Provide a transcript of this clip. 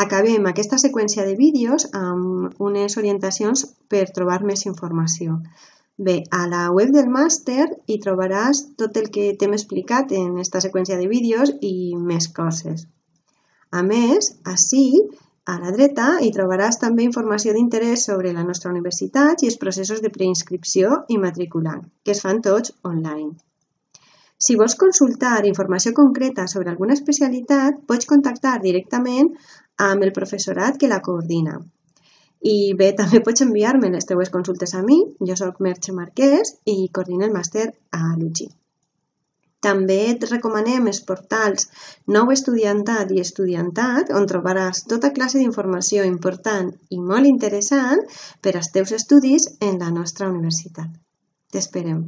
Acabem aquesta seqüència de vídeos amb unes orientacions per trobar més informació. Bé, a la web del màster hi trobaràs tot el que t'hem explicat en aquesta seqüència de vídeos i més coses. A més, ací, a la dreta, hi trobaràs també informació d'interès sobre la nostra universitat i els processos de preinscripció i matriculant, que es fan tots online. Si vols consultar informació concreta sobre alguna especialitat, pots contactar directament amb el professorat que la coordina. I bé, també pots enviar-me les teves consultes a mi. Jo soc Merche Marquès i coordino el màster a l'UGI. També et recomanem els portals Nou Estudiantat i Estudiantat, on trobaràs tota classe d'informació important i molt interessant per als teus estudis en la nostra universitat. T'esperem.